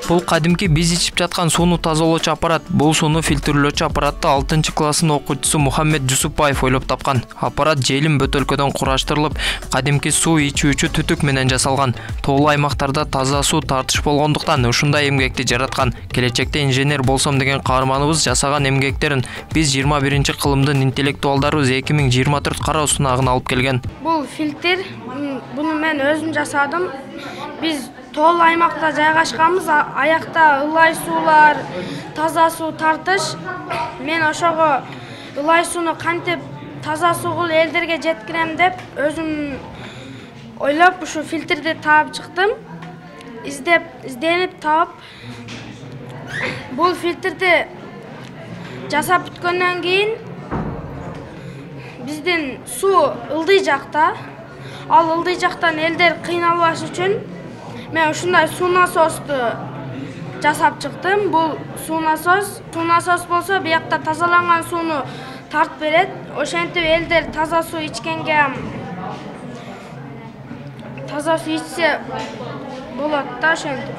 Бул кадимки биз ичип жаткан сууну тазалоочу аппарат. Бул сууну фильтрлөөчү аппаратты 6-класстын окуучусу Мухаммед Жусупбаев ойлоп тапкан. Аппарат желим бөтөлкөдөн кураштырылып, кадимки суу ичүүчү түтүк менен жасалган. Тоолуу аймактарда таза суу тартыш болгондуктан ушундай эмгекти жараткан. Келечекте инженер болсом деген каарманыбыз жасаган эмгектерин биз 21-кылымдын интеллектуалдарыбыз 2024 кароо сунагына алып келген. Бул фильтр, буну мен өзүм жасадым. Биз тоолуу аймакта жайгашканбыз, аякта ылай суулар, таза суу тартыш. Мен ошого ылай сууну кантип таза суу кылып элдерге жеткирем деп өзүм ойлоп ушу фильтрди таап чыктым. Изденип таап бул фильтрди жасап бүткөндөн кийин биздин суу ылдый жакта. Ал ылдый жактан элдер кыйналбаш үчүн мен ушундай суу насосту жасап чыктым. Бул суу насос болсо биякта тазаланган сууну тартып берет. Ошентип элдер таза суу ичкенге таза суу ичсе болот да ошентип.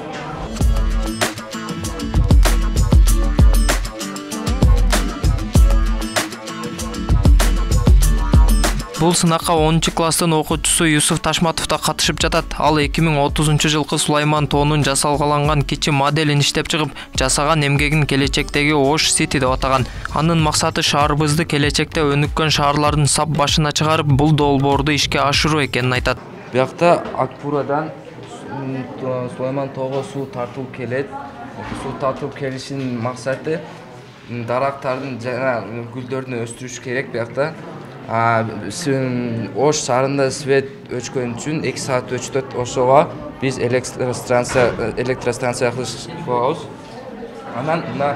Бул сынакка 10-класстын окуучусу Юсуф Ташматов да катышып жатат. Ал 2030-жылкы Сулайман тоонун жасалгаланган кичи моделин иштеп чыгып, жасаган эмгегин келечектеги Ош Сити деп атаган. Анын максаты шаарыбызды келечекте өнүккөн шаарлардын сап башына чыгарып, бул долбоорду ишке ашыруу экенин айтат. Биякта Акпурадан Сулайман тоого суу тартылып келет. Суу тартылып келишинин максаты дарактардын жана гүлдөрдү өстүрүш керек биякта. Ош шаарында свет өчкөн үчүн 2 саат өчтөт. Ошого биз электростанция кылабыз. Анан мына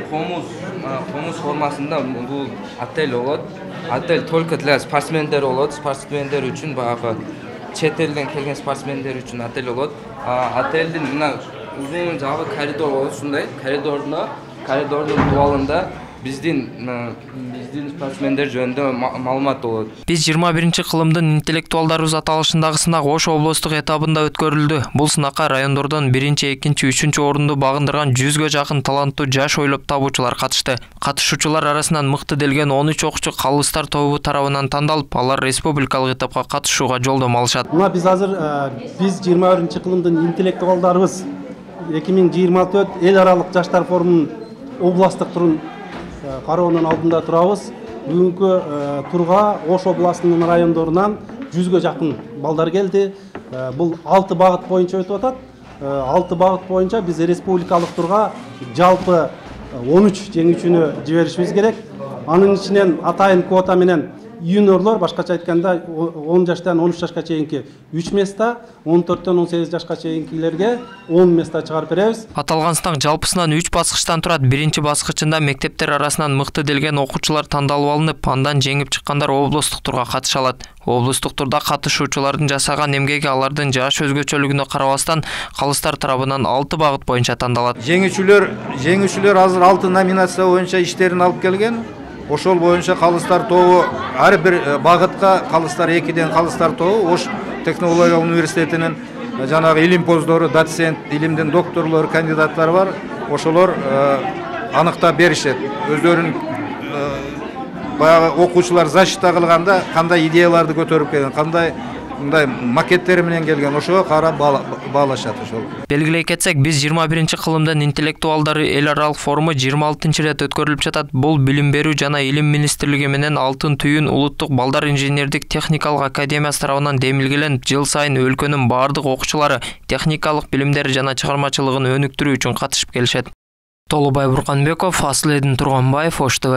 комуз формасында бул отель болот. Отель только для спортсмендер болот. Спортсмендер үчүн баягы чет элден келген спортсмендер үчүн отель болот. Отелдин мына узун жагы коридор болот. Ушундай коридордун дубалында биздин спортсмендер жөнүндө маалымат болот. Биз 21-кылымдын интеллектуалдарыбыз аталышындагы сынак Ош облустук этабында өткөрүлдү. Бул сынакка райондордон 1-2, 3 орунду багындырган 100гө жакын таланттуу жаш ойлоп табуучулар катышты. Катышуучулар арасынан мыкты делген 13 окуучу калыстар тобу тарабынан тандалып, алар республикалык этапка катышууга жолдомо алышат. Мына биз азыр 21-кылымдын интеллектуалдарыбыз 2024 эл аралык жаштар форумунун областтык турун кароонун алдында турабыз. Бүгүнкү турга Ош областынын райондорунан 100гө жакын балдар келди. Бул 6 багыт боюнча өтүп атат. 6 багыт боюнча биз республикалык турга жалпы 13 жеңүүчүнү жиберишибиз керек. Анын ичинен атайын квота менен юниорлор, башкача айтканда 10 жаштан 13 жашка чейинки 3 места, 14-төн 18 жашка чейинкилерге 10 места чыгарып беребиз. Аталган сынак жалпысынан 3 баскычтан турат. Биринчи баскычында мектептер арасынан мыкты делген окуучулар тандалып алынып, андан жеңип чыккандар облустук турга катыша алат. Облустук турда катышуучулардын жасаган эмгеги алардын жаш өзгөчөлүгүнө карабастан калыстар тарабынан 6 багыт боюнча тандалат. Жеңүүчүлөр азыр 6 номинация боюнча иштерин алып келген. Ошол боюнча калыстар тобу ар бир багытка калыстар 2ден калыстар тобу Ош технология университетинин жанагы илимпоздору, доцент, илимдин докторлору, кандидаттары бар. Ошолор аныктап беришет. Өздөрүнүн баягы окуучулар защита кылганда кандай идеяларды көтөрүп келген, кандай мындай макеттери менен келген, ошого карап баалашат ошол. Белгилей кетсек, биз 21-кылымдын интеллектуалдары эл аралык форуму 26-рет өткөрүлүп жатат. Бул билим берүү жана илим министрлиги менен Алтын түйүн улуттук балдар инженердик техникалык академиясы тарабынан демилгеленип, жыл сайын өлкөнүн бардык окуучулары техникалык билимдери жана чыгармачылыгын өнүктүрүү үчүн катышып келишет. Толубай Бурканбеков, Аслыдин Турганбаев, Ош ТВ.